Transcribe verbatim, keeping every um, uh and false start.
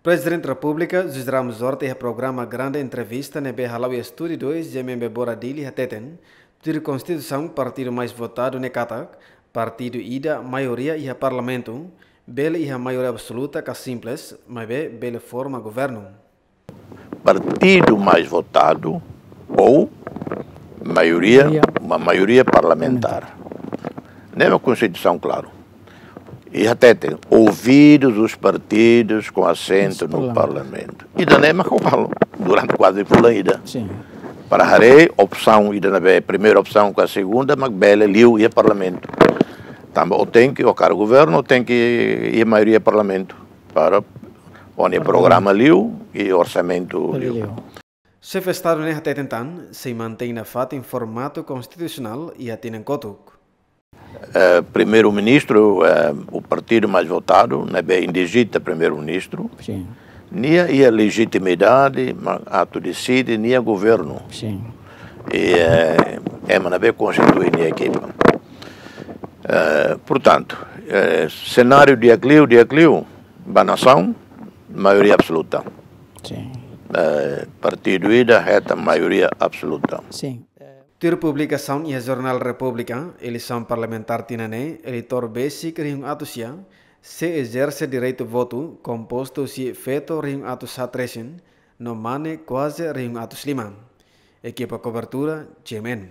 Prezidente Repúblika José Ramos Horta iha programa Grande Entrevista ne'ebé hala'o iha Estúdiu dois GMN Bebora Dili hateten, tuir Konstituisaun partidu mais votadu ne'e katak, partidu ida maioria iha Parlamentu, bele iha maioria absoluta ka simples, maibé bele forma governu. Partidu mais votadu ou maioria, maioria, uma maioria parlamentar. Ne'e Konstituisaun klaru. E até tem ouvidos os partidos com assento no Parlamento. Ida-ne'e mak ha'u halo durante kuaze fulan ida. Para haree opsaun ida-ne'ebé, primeira opsaun ka segunda, mak bele liu iha Parlamentu. Tanba ó tenke, ó kaer governu, ó tenke iha maioria Parlamentu para ó-nia programa liu i orsamentu liu. Xefe Estadu ne'e hateten tan, sei mantein nafatin formatu konstitusionál iha tinan kotuk. Eh, primeiru-ministru, eh, o partidu mais votadu, ne'ebé indigita primeiru-ministru. Nia iha lejitimidade, mak atu deside nia governu. E, eh, ema ne'ebé konstitui nia ekipa. Eh, portantu, eh, senáriu di'ak liu, di'ak liu, ba nasaun, maioria absoluta. Eh, partidu ida hetan maioria absoluta. Tuir publikasaun iha Jornál Repúblika, eleisaun parlamentár tinan ne'e, eleitór besik rihun atus sia, sei ezerse direitu votu, kompostu husi feto rihun atus haat resin, no mane kuaze rihun atus lima. Ekipa kobertura, GMN.